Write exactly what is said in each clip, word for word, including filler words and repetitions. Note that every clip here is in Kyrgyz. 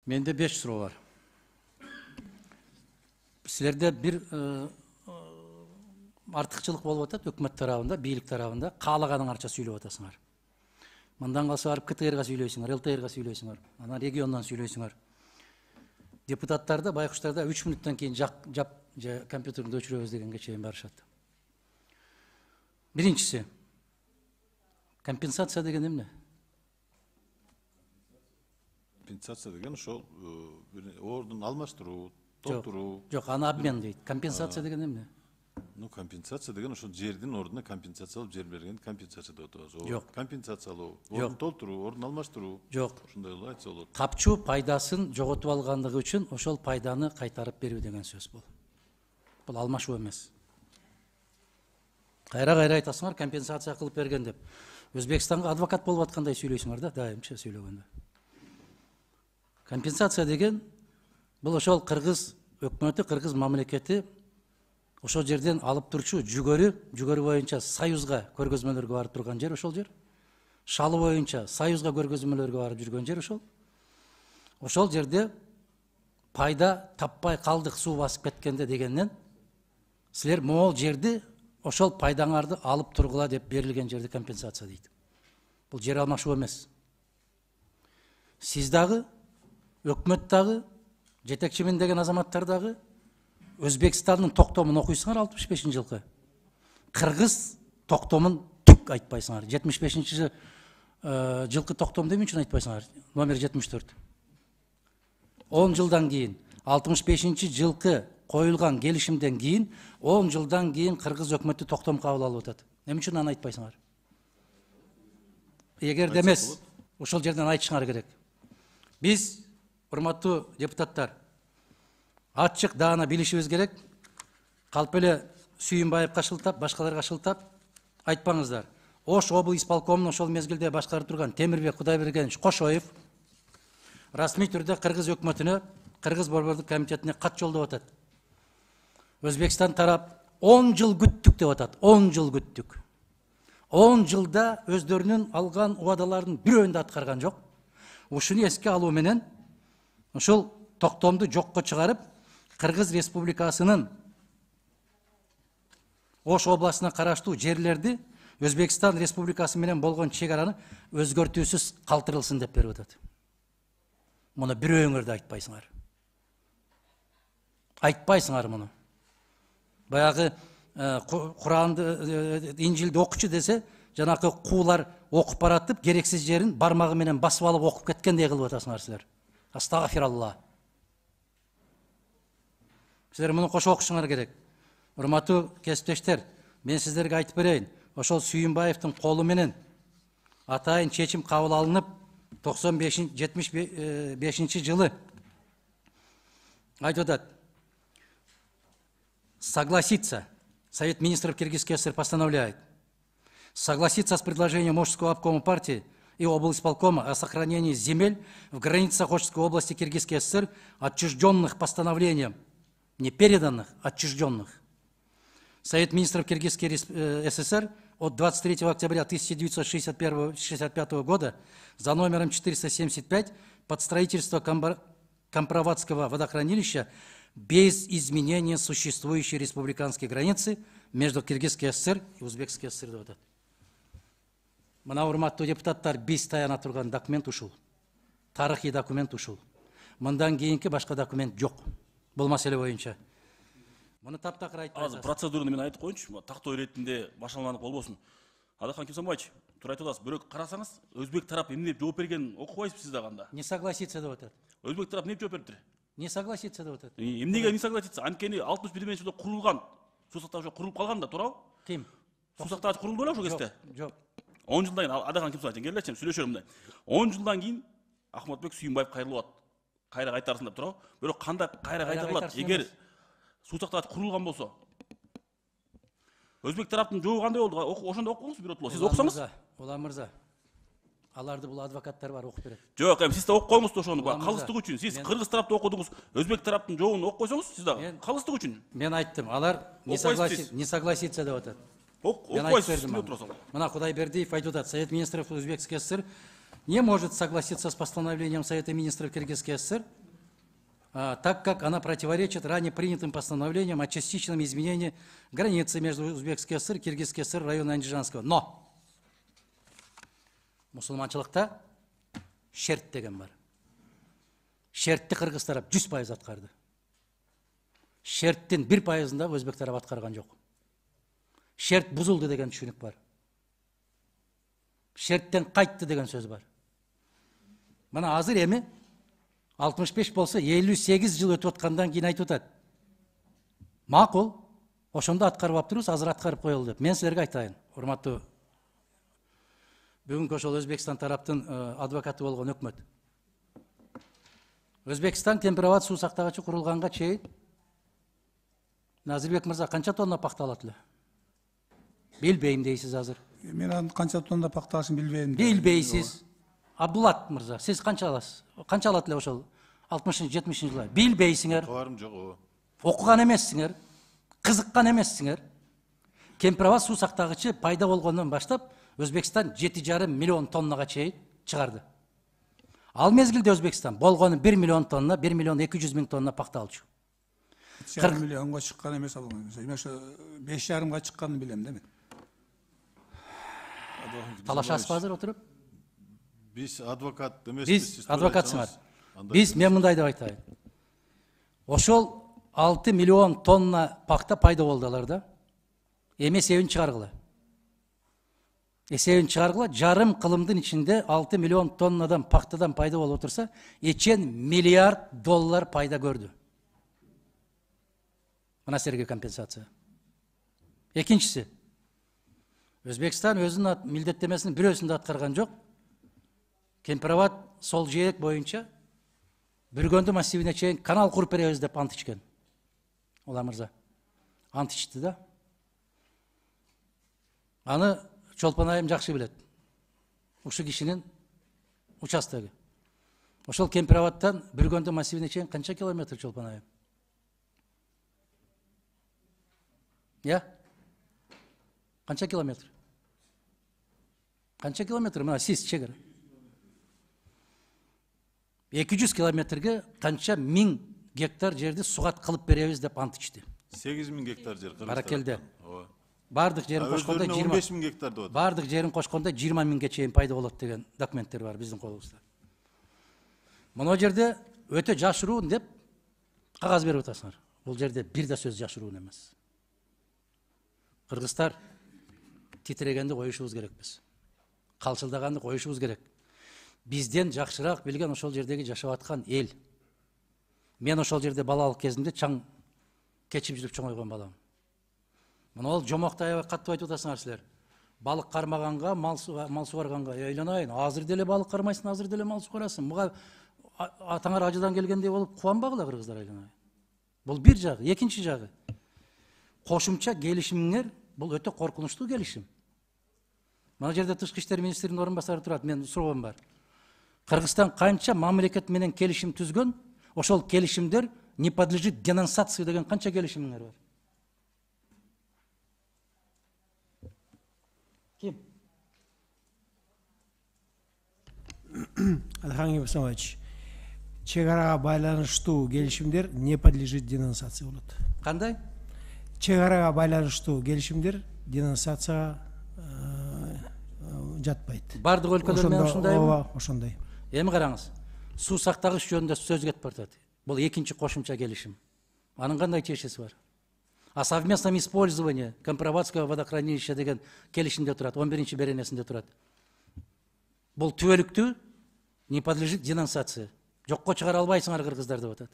Менде беш суроо бар. Силерде бир артыкчылык болуп атат өкмөт тарабында, бийлик тарабында каалаганыңарча сүйлөп атасыңар. Мындан калса барып КТРга сүйлөйсүңөр, ЛТРга сүйлөйсүңөр, анан региондон сүйлөйсүңөр. Депутаттарды, байкуштарда үч мүнөттөн кийин жап же компьютерди өчүрөбүз дегенге чейин барышат. Биринчиси, компенсация деген эмне? Компенсация деген ошол ордун алмаштыруу, толтуруу. Жок, аны обмен дейт. Компенсация деген эмне? Ну, компенсация деген ошол жердин ордуна компенсациялап жер берген компенсация деп атабыз. Жок. Компенсациялоо, ордун толтуруу, ордун алмаштыруу. Жок. Ушундай эле айтса болот. Капчу пайдасын жоготуп алгандыгы үчүн ошол пайданы кайтарып берүү деген сөз бул. Бул алмашуу эмес. Кайра-кайра айтасыңар компенсация кылып берген деп. Өзбекстанга адвокат болуп аткандай сүйлөйсүңөр да, дайымча сүйлөгөндө. Компенсация деген бул ошол кыргыз өкмөтү, кыргыз мамлекети ошол жерден алып турчу жүгөрү, жүгөрү боюнча Союзга көргөзмөлөргө барып турган жер ошол жер. Шалы боюнча Союзга көргөзмөлөргө барып жүргөн жер ошол. Ошол жерде пайда таппай калдык суу басып кеткенде дегеннен силер могул жерди ошол пайдаңарды алып тургула деп берилген жерди компенсация дейт. Бул жер алмашуу эмес. Сиз дагы, өкмөт дагы, жетекчимин деген азаматтар дагы Өзбекстандын токтомун окуйсуңар алтымыш бешинчи жылкы. Кыргыз токтомун түк айтпайсыңар. жетимиш бешинчи жылкы токтом эмне үчүн айтпайсыңар? Номер жетимиш төрт. он жылдан кийин, алтымыш бешинчи жылкы коюлган келишимден кийин, он жылдан кийин кыргыз өкмөтү токтом кабыл алып атат. Эмне үчүн аны айтпайсыңар? Эгерде эмес, ошол жерден айтышыңар керек. Биз, урматтуу депутаттар, ачык даана билишибиз керек. Калп эле Сүйүнбаевга шылтап, башкаларга шылтап айтпаңыздар. Ош обл исполкомун ошол мезгилде башкарып турган Темирбек Кудайбергенович Кошоев расмий түрдө кыргыз өкмөтүнө, кыргыз борбордук комитетине кат жолдоп атат. Өзбекстан тарап он жыл күттүк деп атат. он жыл күттүк. он жылда өздөрүнүн алган убадалардын бирөөнү да аткарган жок. Ушуну эске алуу менен ошол токтомду жокко чыгарып, Кыргыз Республикасынын Ош областына караштуу жерлерди Өзбекстан Республикасы менен болгон чек араны өзгөртүүсүз калтырылсын деп берип атат. Муну бирөөңөр да айтпайсыңар. Айтпайсыңар муну. Баягы Куранды, Инжилди окучу десе, жанакы куулар окуп баратып, керексиз жерин бармагы менен басып алып окуп кеткендей кылып атасыңар силер. Астагфиралла. Силер муну кошо окушуңар керек. Урматтуу кесиптештер, мен сиздерге айтып берейин. Ошол Сүйүнбаевдин колу менен атайын чечим кабыл алынып, токсон бешинчи жетимиш бешинчи жылы айтып атат. Согласиться. Совет министров Киргизской ССР постановляет согласиться с предложением Ошского обкома партии и облисполкома о сохранении земель в границах Ошской области Киргизской ССР, отчужденных постановлением, не переданных, отчужденных. Совет министров Киргизской ССР от двадцать третьего октября тысяча девятьсот шестьдесят пятого года за номером четыреста семьдесят пять под строительство Компроватского водохранилища без изменения существующей республиканской границы между Киргизской ССР и Узбекской ССР деп атат. Мына урматтуу депутаттар, биз таяна турган документ ушул. Тарыхый документ ушул. Мындан кийинки башка документ жок. Бул маселе боюнча. Муну таптакыр айтпайсыз. Азыр процедураны мен айтып коеюнчу. Тактоо иретинде башаланып болбосун. Адахан Кимсанбаевич, туура айтып атасыз. Бирок карасаңыз, өзбек тарап эмне деп жооп берген окубайсызбы сиз дагы анда? Не согласиться деп атат. Өзбек тарап эмне жооп бериптир? Не согласиться деп атат. Эмнеге не согласиться? Анткени алтымыш биринчи жылда курулган. Суу сактагыч курулуп калган да, туурабы? Ким? Суу сактагыч курулду беле ошол кезде? Жок. он жылдан кийин Адахан Кимсанбаевич келелечи, сүйлөшөлүм мындай. он жылдан кийин Ахматбек Сүйүнбаев кайрылып атат. Кайра кайтарсын деп туурабы? Бирок кандай кайра кайтарылат? Эгер суу сактагыч курулган болсо, өзбек тараптын жообу кандай болду? Ошондо окуңуз биротоло. Сиз окусаңыз? Улан мырза, аларды бул адвокаттар бар окуп берет. Жок, эми сиз да окуп коюңуз ошону. Калыстык үчүн. Сиз кыргыз тарапты окудуңуз, өзбек тараптын жообун окуп койсоңуз, сиз дагы калыстык үчүн. Мен айттым, алар не согласиться, не согласиться деп атат. Окуйсуз, деп турасың. Мына Кудайбердиев айтып атат, Совет министров Узбекской ССР не может согласиться с постановлением Совета министров Киргизской ССР, а, так как она противоречит ранее принятым постановлениям о частичном изменении границы между Узбекской ССР и Киргизской ССР района Андижанского. Но мусулманчылыкта шерт деген бар. Шертти кыргыз тарап жүз пайыз аткарды. Шерттин бир пайызында өзбек тарап аткарган жок. Шерт бузулду деген түшүнүк бар. Шерттен кайтты деген сөз бар. Мына азыр эми алтымыш беш болсо элүү сегиз жыл өтүп аткандан кийин айтып атат. Макул, ошондо аткарып аптырбыз, азыр аткарып коелу деп. Мен силерге айтайын, урматтуу бүгүнкү ошол Өзбекстан тараптын адвокаты болгон өкмөт. Өзбекстан темпероват суу сактагычы курулганга чейин Назирбек мырза канча тонна пахта алат эле? Билбейм дейсиз азыр. Мен анын канча тонна пахта алышын билбейм. Билбейсиз. Абдулат мырза, сиз канча аласыз? Канча алат эле ошол алтымышынчы жетимишинчи жылы? Билбейсиңер. Кабарым жок ооба. Окуган эмессиңер. Кызыккан эмессиңер. Кемпироват суу сактагычы пайда болгондон баштап Өзбекстан жети жарым миллион тоннага чейин чыгарды. Ал мезгилде Өзбекстан болгону бир миллион тонна, бир миллион эки жүз миң тонна пахта алчу. жарым миллионго чыккан эмес ал. Эми ошо беш жарымга чыкканын билем да мен. Талашасызбы азыр отуруп? Биз адвокат эмеспиз. Биз адвокатсыңар. Биз мен мындай деп айтайын. Ошол алты миллион тонна пахта пайда болду аларда. Эми эсебин чыгаргыла. Эсебин чыгаргыла, жарым кылымдын ичинде алты миллион тоннадан пахтадан пайда болуп отурса, эчен миллиард доллар пайда көрдү. Мына силерге компенсация. Экинчиси, Өзбекстан өзүнүн милдеттемесинин бирөөсүн да аткарган жок. Кемпироват сол жээк боюнча Бүргөндү массивине чейин канал куруп беребиз деп ант ичкен. Ола мырза. Ант ичти да. Аны Чолпон айым жакшы билет. Ушул кишинин участогу. Ошол Кемпироваттан Бүргөндү массивине чейин канча километр Чолпон айым? Я? Канча километр? Канча километр? Мына сиз чегара. эки жүз километрге канча миң гектар жерди сугат кылып беребиз деп ант ичти. сегиз миң гектар жер кыргыз. Баракелде. Ооба. Бардык жерин кошкондо он жыйырма беш миң гектар деп атат. Бардык жерин кошкондо жыйырма миңге чейин пайда болот деген документтер бар биздин колубузда. Мына жерде өтө жашыруун деп кагаз берип атасыңар. Бул жерде бир да сөз жашыруун эмес. Кыргыздар титирегенди коюшубуз керекпиз. Калчылдаганды коюшубуз керек. Бизден жакшыраак билген ошол жердеги жашап аткан эл. Мен ошол жерде балалык кезимде чаң кечип жүрүп чоңойгон балам. Мына ол жомокто аябай каттып айтып атасыңар силер. Балык кармаганга, мал сугарганга ыйланайын. Азыр деле балык кармайсың, азыр деле мал сугарасың. Буга атаңар ажыдан келгендей болуп кубанбагыла кыргыздар ыйланайын. Бул бир жагы, экинчи жагы. Кошумча келишимиңер бул өтө коркунучтуу келишим. Мына жерде тышкы иштер министринин орун басары турат, мен суроом бар. Кыргызстан канча мамлекет менен келишим түзгөн, ошол келишимдер не подлежит денонсации деген канча келишимиңер бар? Ким? Алхан Ибрагимович, чегарага байланыштуу келишимдер не подлежит денонсации болот. Кандай? Чегарага байланыштуу келишимдер денонсацияга жатпайт. Бардык өлкөлөр менен ушундайбы? Ооба, ошондой. Эми караңыз. Суу сактагыч жөнүндө сөз кетип баратат. Бул экинчи кошумча келишим. Анын кандай тиешеси бар? О совместном использовании Компроватского водохранилища деген келишимде турат, он биринчи беренесинде турат. Бул түбөлүктүү не подлежит денонсации. Жокко чыгара албайсыңар кыргыздар деп атат.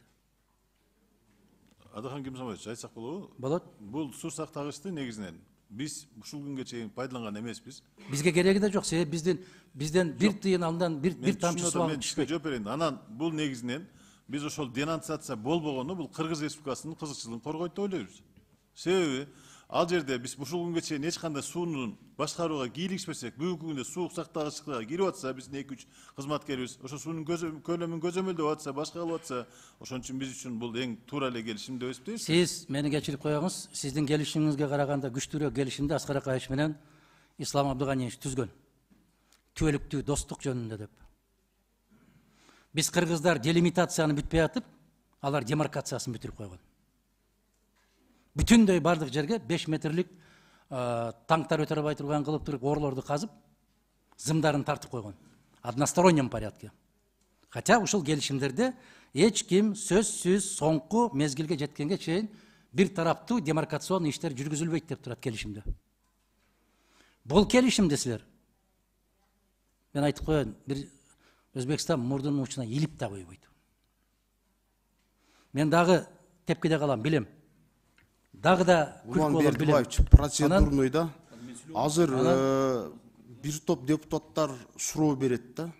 Адахан Кемсомович, айтсак болобу? Болот. Бул суу сактагычты негизинен биз ушул күнгө чейин пайдаланган эмеспиз. Бизге кереги да жок. Себеби бизден бизден бир тыйын андан бир бир тамчы суу алып мен түшпөй жооп берейин. Анан бул негизинен биз ошол денонсация болбогону бул Кыргыз Республикасынын кызыкчылыгын коргойт деп ойлойбуз. Себеби ал жерде биз ушул күнгө чейин эч кандай суунун башкарууга кийлигишпесек, бүгүнкү күндө суу сактагычка кирип атса, биздин эки үч кызматкерибиз ошо суунун көлөмүн көзөмөлдөп атса, башка кылып атса, ошон үчүн биз үчүн бул эң туура эле келишим деп эсептейбиз. Сиз мени кечирип коюңуз, сиздин келишимиңизге караганда күчтүүрөөк келишимди Аскар Акаевич менен Ислам Абдыганиевич түзгөн. Түбөлүктүү достук жөнүндө деп. Биз кыргыздар делимитацияны бүтпөй атып, алар демаркациясын бүтүрүп койгон. Бүтүндөй бардык жерге беш метрлик танктар өтө албай турган кылып туруп орлорду казып, зымдарын тартып койгон. Одностороннем порядке. Хотя ушул келишимдерде эч ким сөзсүз соңку мезгилге жеткенге чейин бир тараптуу демаркацион иштер жүргүзүлбөйт деп турат келишимде. Бул келишимде силер, мен айтып коеюн, бир Өзбекстан мурдунун учуна илип да койбойт. Мен дагы тепкиде калам, билем. Дагы да күлкү болот, билем. Процедурный да. Азыр бир топ депутаттар суроо берет да.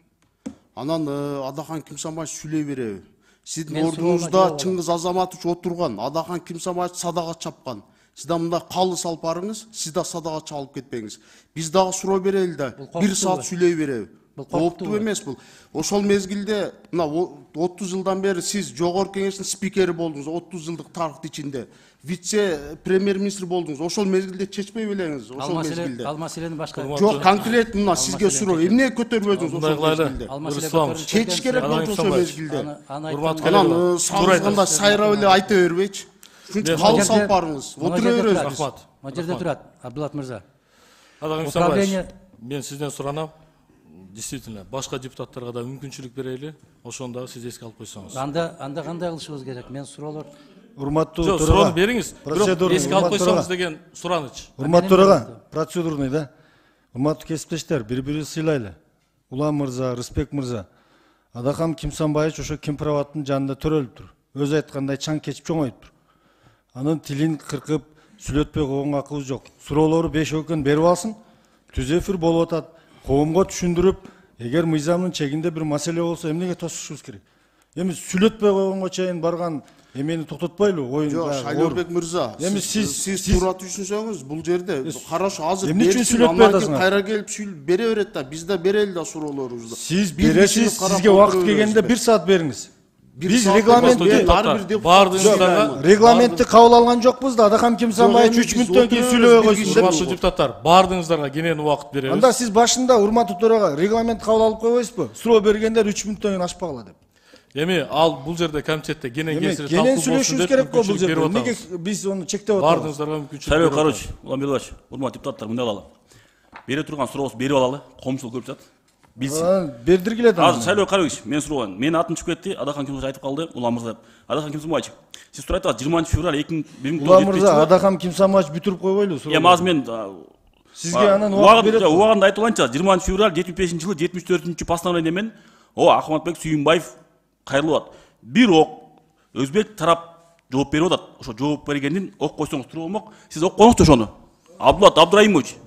Анан Адахан Кимсанбаев сүйлөй береби? Сиздин ордуңузда Чыңгыз Азаматович отурган, Адахан Кимсанбаев садага чапкан. Сиз да мында калы салып барыңыз, сиз да садага чалып кетпеңиз. Биз дагы суроо берели да, бир саат сүйлөй береби? Кооптуу эмес бул. Ошол мезгилде мына отуз жылдан бери сиз жогорку кеңештин спикери болдуңуз, отуз жылдык тарыхты ичинде. Вице премьер-министр болдуңуз. Ошол мезгилде чечпей белеңиз, ошол мезгилде. Ал маселени башка. Жок, конкрет мына сизге суроо. Эмне көтөрбөдүңүз ошол мезгилде? Чечиш керек болчу ошол мезгилде. Анан сагызганда сайрап эле айта бербейчи. Ушунча калы салып барыңыз. Отура беребиз. Рахмат. Мына жерде турат, Абдулат мырза. Управление, мен сизден суранам. Действительно, башка депутаттарга да мүмкүнчүлүк берели, ошону дагы сиз эске алып койсоңуз. Анда анда кандай кылышыбыз керек? Мен суроолор урматтуу төрага. Суроону бериңиз. Бирок эске алып койсоңуз деген сураныч. Урматтуу төрага, процедурный да. Урматтуу кесиптештер, бири-бирибизди сыйлайлы. Улан мырза, Рыспек мырза, Адахан Кимсанбаевич ошо Кемпироваттын жанында төрөлүптүр. Өзү айткандай чаң кечип чоңоюптур. Анын тилин кыркып, сүйлөтпөй койгонго акыбыз жок. Суроолору бешөө экөөнү берип алсын. Түз эфир болуп атат. Коомго түшүндүрүп, эгер мыйзамдын чегинде бир маселе болсо эмнеге тосушубуз керек? Эми сүйлөтпөй койгонго чейин барган эмени токтотпойлу, оюн. Жок, Шайлообек мырза, эми сиз сиз туура түшүнсөңүз, бул жерде карашы азыр эмне үчүн сүйлөтпөй атасыңар? Кайра келип сүйлөп бере берет да, биз да берели да суроолорубузду. Сиз бересиз, сизге убакыт келгенде бир саат бериңиз. Биз регламентти регламентти кабыл алган жокпуз да, Адахан Кимсанбаевич үч мүнөттөн кийин сүйлөбөй койсун деп. Урматтуу депутаттар, баардыгыңыздарга кенен убакыт беребиз. Анда сиз башында урматтуу төрага регламент кабыл алып койбойсузбу? Суроо бергендер үч мүнөттөн кийин ашпагыла деп. Эми ал бул жерде комитетте кенен кесирип талкуу кенен болсун сүйлөшүбүз деп керек го бул жерде. берип Эмнеге атабыз. биз ону чектеп атабыз? Баардыгыңыздарга мүмкүнчүлүк Шайлоо берип Карыч, Улан Белбаш, урматтуу депутаттар, мындай кылалы. Бере турган сурообузду берип алалы, коомчулук көрүп жатат. Билсин. Бердиргиле да. Азыр Шайлоо Карыч, мен суроогон. Менин атым чыгып кетти, Адахан Кимсанбаевич айтып калды, Улан мырза деп. Адахан Кимсанбаевич, сиз туруп айтасыз, жыйырманчы февраль эки миң бир миң Улан мырза, Адахан Кимсанбаевич бүтүрүп койбойлу суроо. Эми азыр мен сизге анан убакыт берет. Убагында айтып алайынчы, жыйырманчы февраль жетимиш бешинчи жылы жетимиш төртүнчү постановление менен о Ахматбек Сүйүнбаев кайрылып атат. Бирок өзбек тарап жооп берип атат. Ошо жооп бергендин ок койсоңуз туруу болмок. Сиз ок коңузчу ошону. Абдулат Абдурайымович.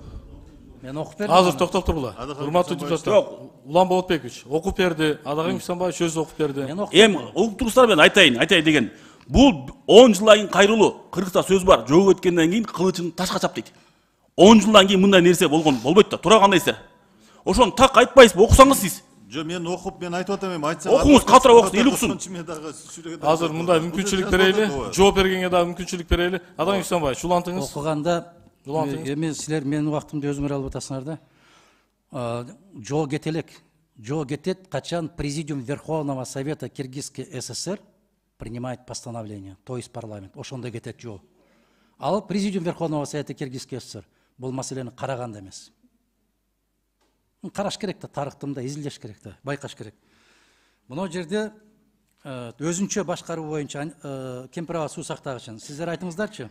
Мен окуп бердим. Азыр токтоп тургула. Урматтуу депутаттар, Улан Болотбекович окуп берди, Адахан Кимсанбаевич өзү окуп берди. Эми окуп турсуздар, мен айтайын, айтайын деген. Бул он жылдан кийин кайрылуу. Кыргызда сөз бар, жоого өткөндөн кийин кылычын ташка чап дейт. он жылдан кийин мындай нерсе болгон болбойт да. Туура кандайсыздар? Ошону так айтпайсызбы? Окусаңыз сиз. Жо, мен окуп, мен айтып атам, эми айтсаң. Окуңуз, катыраак окусун, эл уксун. Азыр мындай мүмкүнчүлүк берели, жооп бергенге дагы мүмкүнчүлүк берели. Адахан Кимсанбаевич, улантыңыз. Окуганда эми силер менин убактымды өзүңөр алып атасыңар да. Жоо кете элек. Жоо кетет, качан Президиум Верховного Совета Киргизской ССР принимает постановление, то есть парламент. Ошондо кетет жоо. Ал Президиум Верховного Совета Киргизской ССР бул маселени караган эмес. Караш керек да, тарыхтымда изилдеш керек да, байкаш керек. Мына жерде өзүнчө башкаруу боюнча Кемпироват суу сактагычын сиздер айтыңыздарчы.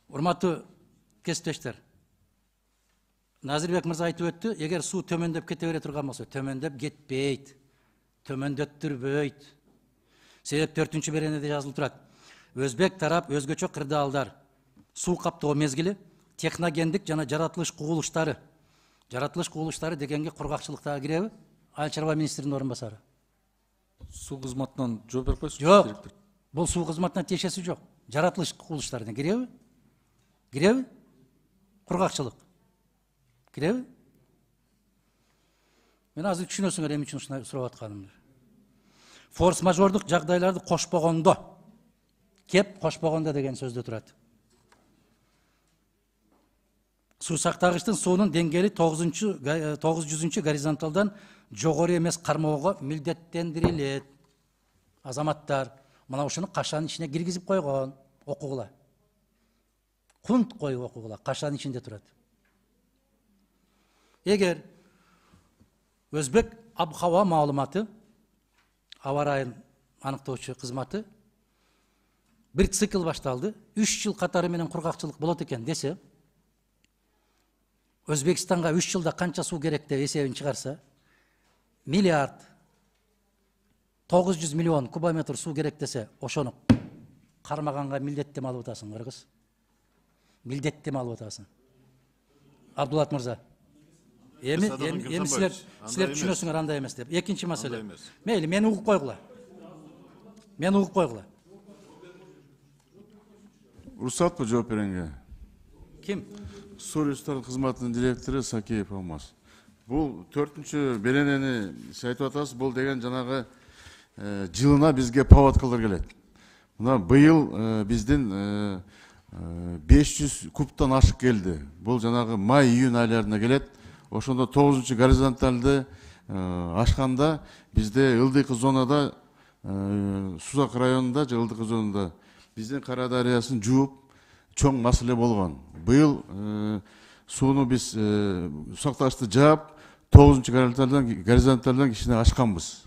Урматтуу кесиптештер, Назирбек мырза айтып өттү, эгер суу төмөндөп кете бере турган болсо, төмөндөп кетпейт, төмөндөттүрбөйт. Себеп төртүнчү беренеде жазылып турат. Өзбек тарап өзгөчө кырдаалдар, суу каптоо мезгили, техногендик жана жаратылыш кубулуштары. Жаратылыш кубулуштары дегенге кургакчылыктагы киреби? Айыл чарба министринин орун басары. Суу кызматынан жооп берип койсуңуз. Жок. Бул суу кызматына тиешеси жок. Жаратылыш кубулуштарына киреби? Киреби? Кургакчылык. Киреби? Мен азыр түшүнөсүңөр эмне үчүн ушундай сурап атканымды. Форс-мажордук жагдайларды кошпогондо, кеп кошпогондо деген сөздө турат. Суу сактагычтын суунун деңгээли тогуз жүзүнчү горизонталдан жогору эмес кармоого милдеттендирилет. Азаматтар мына ушуну кашанын ичине киргизип койгон, окугула. Кунт коюп окугула, кашанын ичинде турат. Эгер Өзбек аб-хава маалыматы, аба райын аныктоочу кызматы бир цикл башталды, үч жыл катары менен кургакчылык болот экен десе, Өзбекстанга үч жылда канча суу керек деп эсебин чыгарса, миллиард тогуз жүз миллион кубометр суу керек десе, ошону кармаганга милдеттеме алып атасың, кыргыз. Милдеттеме алып атасың. Абдулат мырза. Эми эми силер силер түшүнөсүңөр андай эмес деп. Экинчи маселе. Мейли, мени угуп койгула. Мени угуп койгула. Уруксатпы жооп беренге? Ким? Суу ресурстары кызматынын директору Сакеев Алмаз. Бул төртүнчү беренени сиз айтып атасыз, бул деген жанагы жылына бизге паводкалар келет. Мына быйыл биздин беш жүз кубтан ашык келди. Бул жанагы май-июнь айларына келет. Ошондо тогузунчу горизонталды ашканда бизде ылдыйкы зонада, Сузак районунда же ылдыйкы зонада биздин Кара дарыясын жууп чоң маселе болгон. Быйыл сууну биз сакташты жаап, тогузунчу горизонталдан горизонталдан кичине ашканбыз.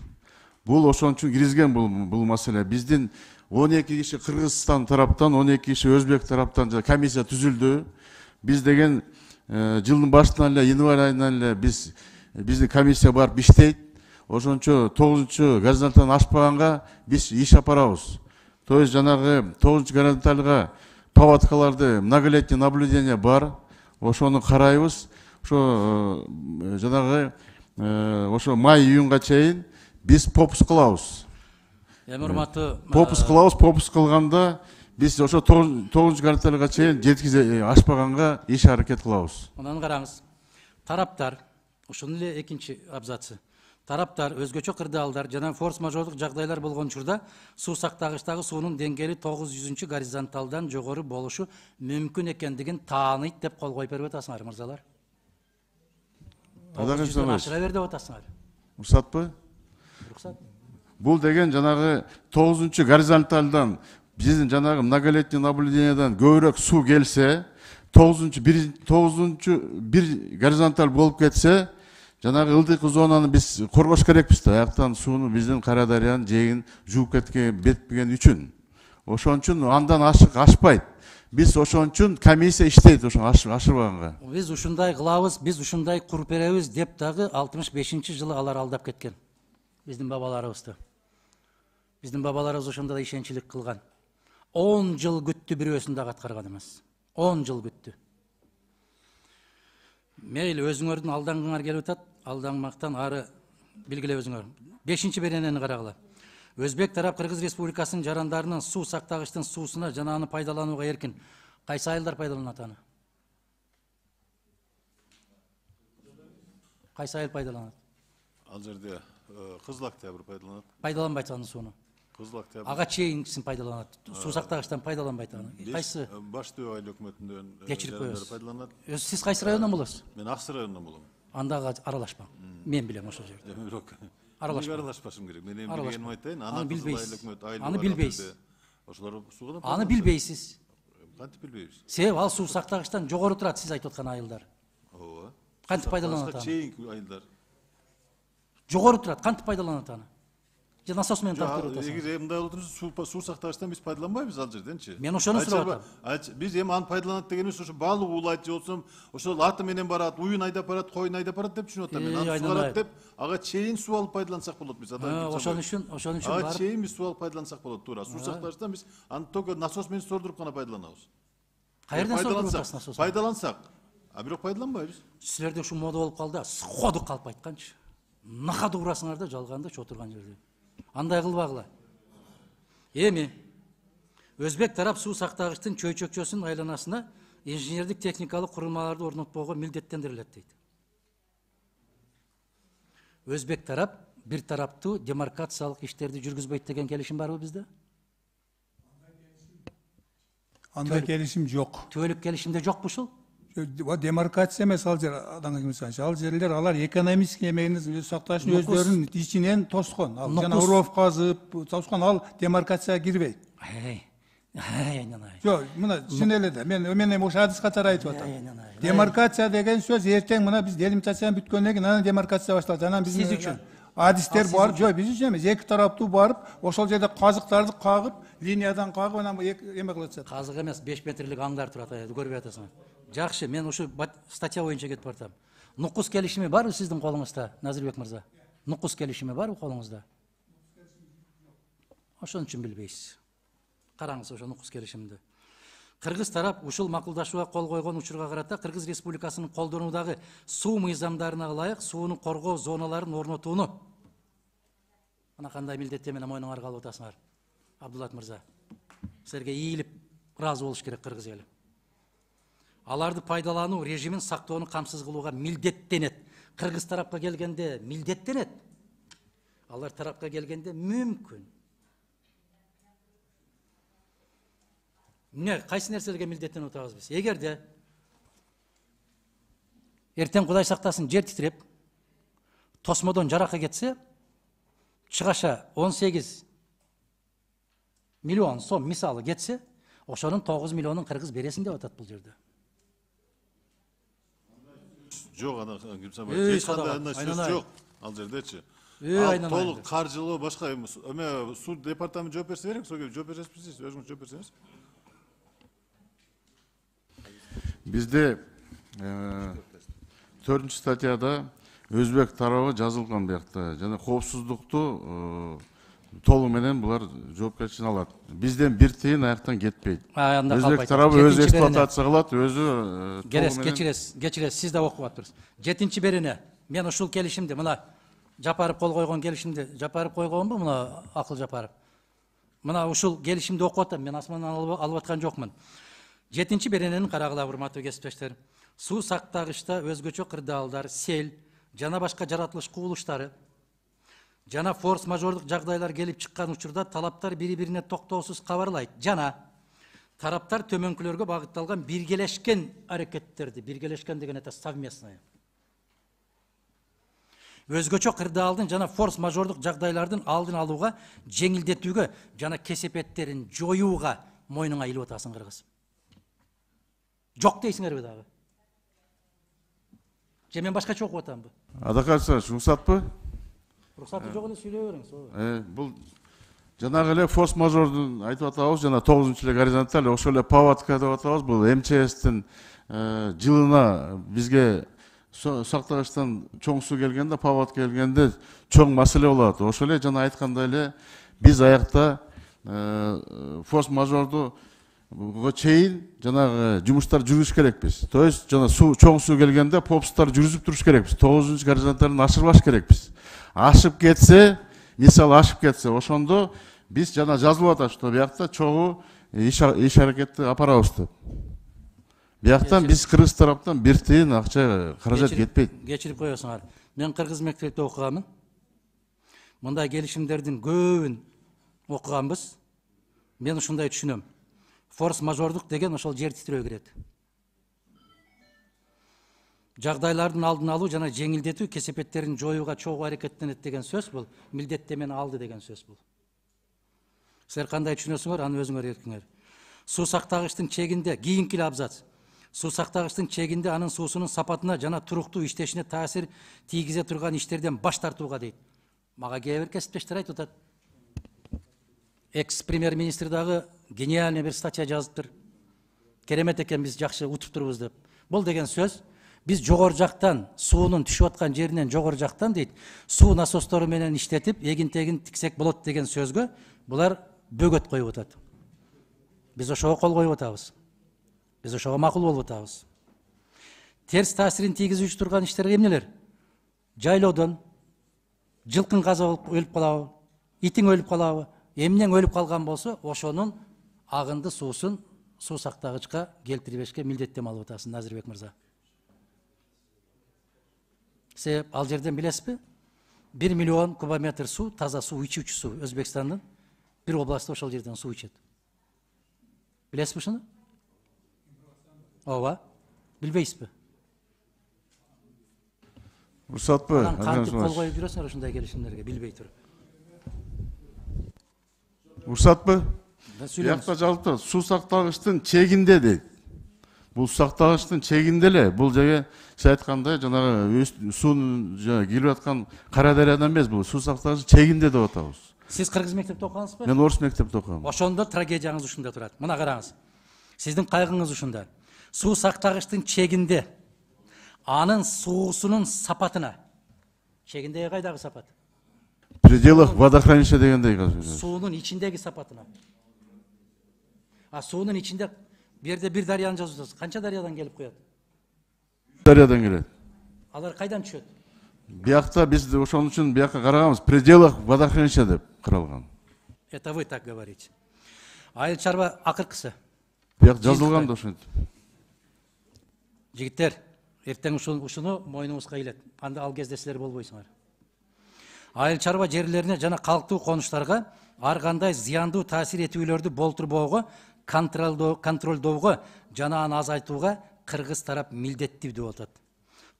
Бул ошон үчүн киргизген бул бул маселе. Биздин он эки киши Кыргызстан тараптан, он эки киши Өзбек тараптан комиссия түзүлдү. Биз деген жылдын башынан эле, январь айынан эле биз биздин комиссия барып иштейт. Ошончо тогузунчу горизонталдан ашпаганга биз иш апарабыз. То есть жанагы тогузунчу горизонталга паводкаларды многолетний наблюдение бар. Ошону карайбыз. Ошо жанагы ошо май-июнга чейин биз попуск кылабыз. Эми урматтуу попуск кылабыз, попуск кылганда биз ошо тогузунчу горизонталга чейин жеткизе ашпаганга иш аракет кылабыз. Мынаны караңыз. Тараптар, ушунун эле экинчи абзацы. Тараптар өзгөчө кырдаалдар жана форс-мажордук жагдайлар болгон учурда суу сактагычтагы суунун деңгээли тогуз жүзүнчү горизонталдан жогору болушу мүмкүн экендигин тааныйт деп кол коюп берип атасыңар, мырзалар. тогуз жүздөн ашыра бер деп атасыңар. Уруксатпы? Уруксат. Бул деген жанагы тогузунчу горизонталдан биздин жанагы многолетний наблюдениядан көбүрөөк суу келсе, тогузунчу тогузунчу бир горизонталь болуп кетсе, жанагы ылдыйкы зонаны биз коргош керекпиз да. Аяктан сууну биздин Кара дарыянын жээгин жууп кеткен, бетпеген үчүн. Ошон үчүн андан ашык ашпайт. Биз ошон үчүн комиссия иштейт ошо ашырбаганга. Биз ушундай кылабыз, биз ушундай куруп беребиз деп дагы алтымыш бешинчи жылы алар алдап кеткен. Биздин бабаларыбызды. Биздин бабаларыбыз ошондо да ишенчилик кылган. он жыл күттү, бирөөсүн дагы аткарган эмес. он жыл күттү. Мейли, өзүңөрдүн алдаңгыңар келип атат, алдаңмактан ары билгиле өзүңөр. бешинчи беренени карагыла. Өзбек тарап Кыргыз Республикасынын жарандарынын суу сактагычтын суусуна жана аны пайдаланууга эркин. Кайсы айылдар пайдаланат аны? Кайсы айыл пайдаланат? Ал жерде Кызыл Октябрь пайдаланат. Пайдаланбайт аны сууну. Кызыл Октябрь. Ага чейинкисин пайдаланат. Суу сактагычтан пайдаланбайт аны. Кайсы? Баш Төө айыл өкмөтүндөн кечирип коебуз. пайдаланат. Сиз кайсы райондон болосуз? Мен Аксы районунан болом. Анда аралашпаң. Мен билем ошол жерде. Бирок Аралашпаң. аралашпашым керек. Мен эми билгеним айтайын. Аны билбейсиз. айыл Аны билбейсиз. Ошолор сууга Аны билбейсиз. Кантип билбейбиз? Себеби ал суу сактагычтан жогору турат, сиз айтып аткан айылдар. Ооба. Кантип пайдаланат аны? Чейинки айылдар. Жогору турат, кантип пайдаланат аны? Же насос менен тартып атасыз? Эгер мындай болуп турса, суу сактагычтан биз пайдаланбайбыз ал жерденчи. Мен ошону сурап атам. Биз эми аны пайдаланат дегенибиз ошо балык уулайт же болсо ошол аты менен барат, уюн айдап барат, койун айдап барат деп түшүнүп атам мен. Аны сугарат деп, ага чейин суу алып пайдалансак болот биз. Ошон үчүн, ошон үчүн барып. Ага чейин биз суу алып пайдалансак болот, туура. Суу сактагычтан биз аны только насос менен сордуруп гана пайдаланабыз. Каерден сордуруп атасыз насос? Пайдалансак, а бирок пайдаланбайбыз. Силерде ушул мода болуп калды, сходу калп айтканчы. Нахады урасыңар да жалганды чотурган жерде. Андай кылбагыла. Эми Өзбек тарап суу сактагычтын чөйчөкчөсүнүн айланасына инженердик техникалык курулмаларды орнотпоого милдеттендирилет дейт. Өзбек тарап бир тараптуу демаркациялык иштерди жүргүзбөйт деген келишим барбы бизде? Андай келишим жок. Түбөлүк келишимде жокпу ушул? Демаркация эмес ал жер, Адан Кимсанович, ал жерлер алар экономический эмегин өз сакташын өздөрүнүн ичинен тоскон. Ал жана уров казып, тоскон, ал демаркацияга кирбейт. Жок, мына түшүнө эле да. Мен мен эми ошо адис катары айтып атам. Демаркация деген сөз эртең мына биз делимитацияны бүткөндөн кийин анан демаркация башталат. Анан биз үчүн адистер барып, жок, биз үчүн эмес, эки тараптуу барып, ошол жерде казыктарды кагып, линиядан кагып, анан эме кылып атышат. Казык эмес, беш метрлик аңдар турат, көрбөй атасыңар. Жакшы, мен ушу статья боюнча кетип бартам. Нукус келишими барбы сиздин колуңузда, Назирбек мырза? Нукус келишими барбы колуңузда? Ошон үчүн билбейсиз. Караңыз ошо нукус келишимди. Кыргыз тарап ушул макулдашууга кол койгон учурга карата Кыргыз Республикасынын колдонуудагы суу мыйзамдарына ылайык сууну коргоо зоналарын орнотууну. Мына кандай милдеттеменен мойнуңарга алып атасыңар, Абдулат мырза. Силерге ийилип ыраазы болуш керек кыргыз эли. Аларды пайдалануу режимин сактоону камсыз кылууга милдеттенет. Кыргыз тарапка келгенде милдеттенет. Алар тарапка келгенде мүмкүн. Эмне, кайсы нерселерге милдеттенип атабыз биз? Эгерде эртең Кудай сактасын жер титиреп, тосмодон жаракка кетсе, чыгаша он сегиз миллион сом мисалы кетсе, ошонун тогуз миллионун кыргыз бересин деп атат бул жерде. Жок, ана Кимсанбаев, эч кандай андай сөз жок ал жердечи. Ал толук каржылоо башка эме суу департаменти жооп берсе берек, ошого жооп бересизби, өзүңүз жооп берсеңиз. Бизде төртүнчү статьяда өзбек тарабы жазылган биякта жана коопсуздукту толугу менен булар жоопкерчилигин алат. Бизден бир тыйын аяктан кетпейт. Өзбек тарабы өзү эксплуатация кылат, өзү Керес, кечиресиз, кечиресиз, сиз да окуп атпырсыз. жетинчи берене, мен ушул келишимди, мына Жапаров кол койгон келишимди, Жапаров койгонбу, мына Акыл Жапаров. Мына ушул келишимди окуп атам, мен асмандан алып аткан жокмун. жетинчи беренени карагыла, урматтуу кесиптештер. Суу сактагычта өзгөчө кырдаалдар, сел жана башка жаратылыш кубулуштары жана форс-мажордук жагдайлар келип чыккан учурда талаптар бири-бирине токтоосуз кабарлайт жана тараптар төмөнкүлөргө багытталган биргелешкен аракеттерди, биргелешкен деген это совместное, өзгөчө кырдаалдын жана форс-мажордук жагдайлардын алдын алууга, жеңилдетүүгө жана кесепеттерин жоюуга мойнуңа илип атасың кыргыз. Жок дейсиңерби дагы? Же мен башкача окуп атамбы? Адакарса уруксатпы? Уруксаты жок эле сүйлөй бериңиз. Э, бул жанагы эле форс-мажордун айтып атабыз, жана тогузунчу эле горизонталь, ошол эле паводка деп атабыз. Бул эм че эстин жылына бизге сактагычтан чоң суу келгенде, паводка келгенде чоң маселе болот. Ошол эле жана айткандай эле биз аякта форс-мажорду чейин жанагы жумуштар жүргүзүш керекпиз. То есть жана суу чоң суу келгенде попстар жүргүзүп туруш керекпиз. тогузунчу горизонталын ашырбаш керекпиз. Ашып кетсе, мисалы ашып кетсе, ошондо биз жана жазылып атат, что биякта чогуу иш аракетти апарабыз деп. Бияктан биз кыргыз тараптан бир тыйын акча каражат кетпейт. Кечирип коесуңар. Мен кыргыз мектепте окуганмын. Мындай келишимдердин көбүн окуганбыз. Мен ушундай түшүнөм. Форс-мажордук деген ошол жер титирөө кирет. Жагдайлардын алдын алуу жана жеңилдетүү, кесепеттерин жоюуга чогуу аракеттенет деген сөз бул, милдеттемени алды деген сөз бул. Силер кандай түшүнөсүңөр, аны өзүңөр эркиңер. Суу сактагычтын чегинде кийинки абзац. Суу сактагычтын чегинде анын суусунун сапатына жана туруктуу иштешине таасир тийгизе турган иштерден баш тартууга дейт. Мага кээ бир кесиптештер айтып атат. Экс-премьер-министр дагы гениальный бир статья жазыптыр. Керемет экен, биз жакшы утуп турбуз деп. Бул деген сөз, биз жогору жактан, суунун түшүп аткан жеринен жогору жактан дейт, суу насостору менен иштетип, эгин-тегин тиксек болот деген сөзгө булар бөгөт коюп атат. Биз ошого кол коюп атабыз. Биз ошого макул болуп атабыз. Терс таасирин тийгизүүчү турган иштер эмнелер? Жайлоодон жылкын каза болуп өлүп калабы, итиң өлүп калабы, эмнең өлүп калган болсо, ошонун агынды суусун суу сактагычка келтирбешке милдеттеме алып атасың, Назирбек мырза. Себеп ал жерден билесизби? бир миллион кубометр суу, таза суу, ичүүчү суу Өзбекстандын бир областы ошол жерден суу ичет. Билесизби ушуну? Ооба. Билбейсизби? уруксатпы? Анан кантип кол коюп жүрөсүңөр ушундай келишимдерге билбей туруп? Уруксатпы? Биякта жазылып турат, суу сактагычтын чегинде дейт. Бул сактагычтын чегинде эле, бул жерге сиз айткандай жанагы суунун жана келип аткан Кара дарыядан эмес, бул суу сактагычтын чегинде деп атабыз. Сиз кыргыз мектепте окугансызбы? Мен орус мектепте окугам. Ошондо трагедияңыз ушунда турат. Мына караңыз. Сиздин кайгыңыз ушунда. Суу сактагычтын чегинде анын суусунун сапатына. Чегиндеги кайдагы сапат? В пределах водохранилища дегендей казыр. Суунун ичиндеги сапатына. А суунун ичинде бу жерде бир дарыяны жазып атасыз. Канча дарыядан келип коет? Дарыядан келет. Алар кайдан түшөт? Биякта биз ошон үчүн биякка караганбыз, в пределах водохранилища деп каралган. Это вы так говорите. Айыл чарба акыркысы. Бияк жазылган да ошентип. Жигиттер, эртең ушуну мойнуңузга илет. Анда ал кезде силер болбойсуңар. Айыл чарба жерлерине жана калктуу конуштарга ар кандай зыяндуу таасир этүүлөрдү болтурбоого, контролдоого жана аны азайтууга кыргыз тарап милдеттүү деп атат.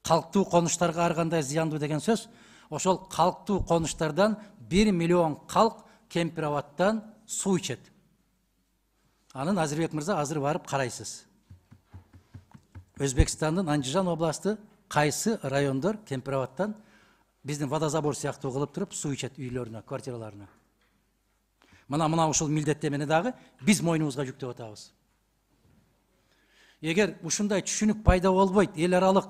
Калктуу конуштарга ар кандай зыяндуу деген сөз, ошол калктуу конуштардан бир миллион калк Кемпир-Абадтан суу ичет. Анын Азырбек мырза азыр барып карайсыз. Өзбекстандын Андижан областы кайсы райондор Кемпир-Абадтан биздин водозабор сыяктуу кылып туруп суу ичет үйлөрүнө, квартираларына. Мына мына ушул милдеттемени дагы биз мойнубузга жүктөп атабыз. Эгер ушундай түшүнүк пайда болбойт, эл аралык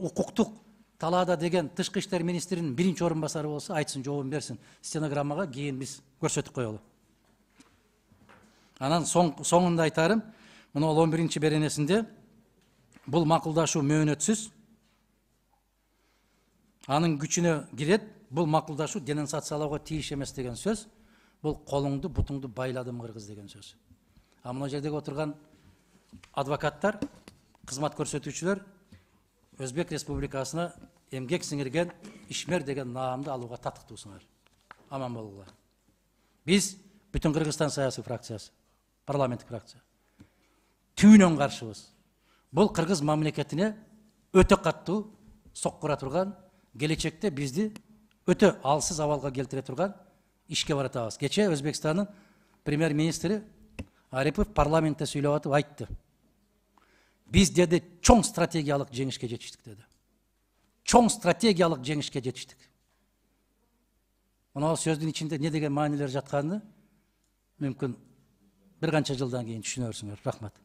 укуктук талаада деген тышкы иштер министринин биринчи орун басары болсо, айтсын, жообун берсин. Стенограммага кийин биз көрсөтүп коелу. Анан соңунда айтарым, мына он биринчи беренесинде бул макулдашуу мөөнөтсүз, анын күчүнө кирет, бул макулдашуу денонсациялоого тийиш эмес деген сөз, бул колуңду бутуңду байладым кыргыз деген сөз. А мына жердеги отурган адвокаттар, кызмат көрсөтүүчүлөр Өзбек Республикасына эмгек сиңирген ишмер деген наамды алууга татыктуусуңар. Аман болуңар. Биз бүтүн Кыргызстан саясий фракциясы, парламенттик фракция түбүнөн каршыбыз. Бул кыргыз мамлекетине өтө каттуу соккура турган, келечекте бизди өтө алсыз абалга келтире турган ишке баратабыз. Кече Өзбекстандын премьер-министри Арипов парламентте сүйлөп атып айтты. Биз деди чоң стратегиялык жеңишке жетиштик деди. Чоң стратегиялык жеңишке жетиштик. Мына сөздүн ичинде не деген маанилер жатканын мүмкүн бир канча жылдан кийин түшүнөрсүңөр. Рахмат.